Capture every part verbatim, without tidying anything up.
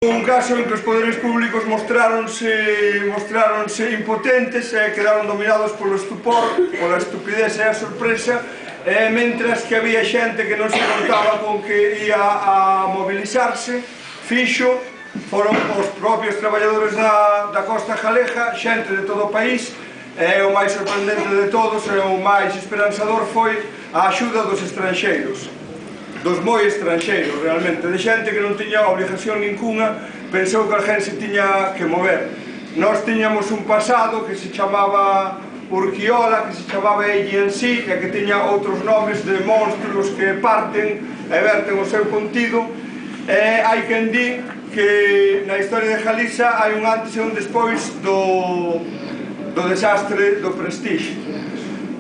Un caso en que os poderes públicos mostráronse, mostráronse impotentes e quedaron dominados polo estupor, pola estupidez e a sorpresa, e mentras que había xente que non se contaba con que ia a mobilizarse, fixo, foron os propios traballadores da, da Costa Galeja, xente de todo o país, e o máis sorprendente de todos e o máis esperanzador foi a axuda dos estranxeiros. Dos moi estranxeiros, realmente, de xente que non tiña obligación ninguna, pensou que alguén se tiña que mover. Nós tiñamos un pasado que se chamaba Urquiola, que se chamaba Ell en sí, e que tiña outros nomes de monstruos que parten e verten o seu contido, e hai quen di que na historia de Galiza hai un antes e un despois do, do desastre do Prestige.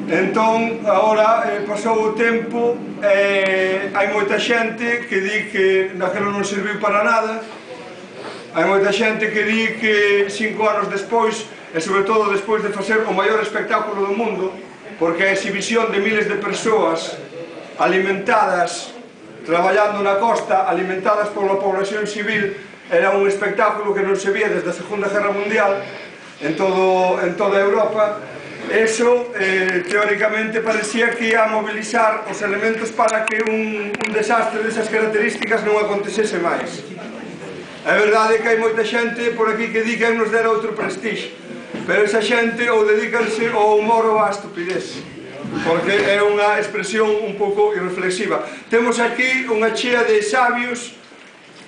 Entón, agora eh, pasou o tempo e eh, hai moita xente que di que daquilo non serviu para nada. Hai moita xente que di que cinco anos despois, e sobre todo despois de facer o maior espectáculo do mundo, porque a exhibición de miles de persoas alimentadas, traballando na costa, alimentadas pola población civil, era un espectáculo que non se vía desde a Segunda Guerra Mundial en, todo, en toda Europa. Eso, eh, teóricamente, parecía que ia a mobilizar os elementos para que un, un desastre desas características non acontecese máis. A verdade é que hai moita xente por aquí que di que nos dera outro Prestige, pero esa xente ou dedícanse ao humor ou á estupidez, porque é unha expresión un pouco irreflexiva. Temos aquí unha chea de sabios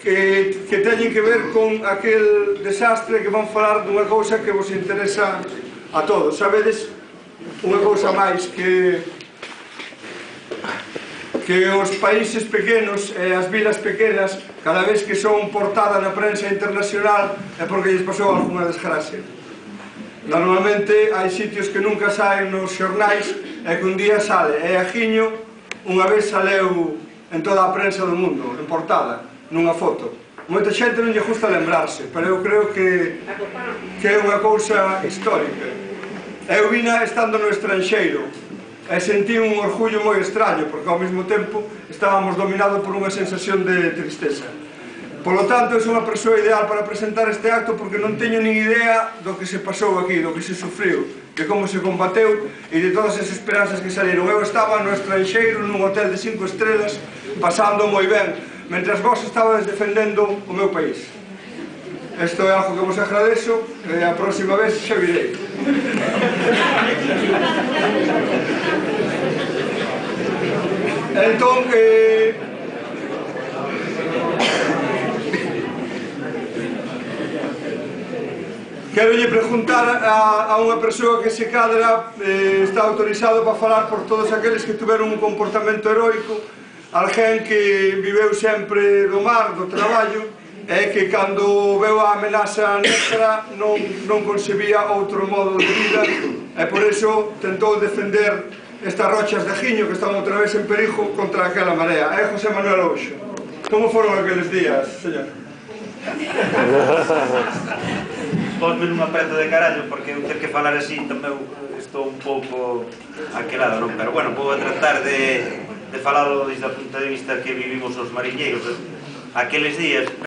que, que teñen que ver con aquel desastre que van falar dunha cousa que vos interesa a todos. Sabedes unha cousa máis que que os países pequenos e as vilas pequenas, cada vez que son portada na prensa internacional é porque lles pasou alguna desgracia. Normalmente hai sitios que nunca saen nos xornais e que un día sale, e agiño unha vez saleu en toda a prensa do mundo, en portada, nunha foto. Moita xente non lle gusta lembrarse, pero eu creo que, que é unha cousa histórica. Eu vina estando no estranxeiro e sentí un orgullo moi extraño, porque ao mesmo tempo estábamos dominados por unha sensación de tristeza. Polo tanto, eu sou unha persoa ideal para presentar este acto porque non teño nin idea do que se pasou aquí, do que se sufriu, de como se combateu e de todas as esperanzas que saliron. Eu estaba no estranxeiro, nun hotel de cinco estrelas, pasando moi ben, mentras vos estabades defendendo o meu país. Isto é algo que vos agradezo e a próxima vez xa virei. Entón, eh, quero lle preguntar a, a unha persoa que se cadra eh, está autorizado para falar por todos aqueles que tuveron un comportamento heroico, alguén que viveu sempre do mar, do traballo, e que cando veu a amenaza negra non, non concebía outro modo de vida e por iso tentou defender estas rochas de Ajiño que están outra vez en perigo contra aquela marea. É José Manuel Ouxo. Como foron aqueles días, señor? Posme non apreto de carallo porque eu ter que falar así tamén estou un pouco aquelado, non? Pero bueno, vou tratar de, de falalo desde o punto de vista que vivimos os mariñeiros aqueles días.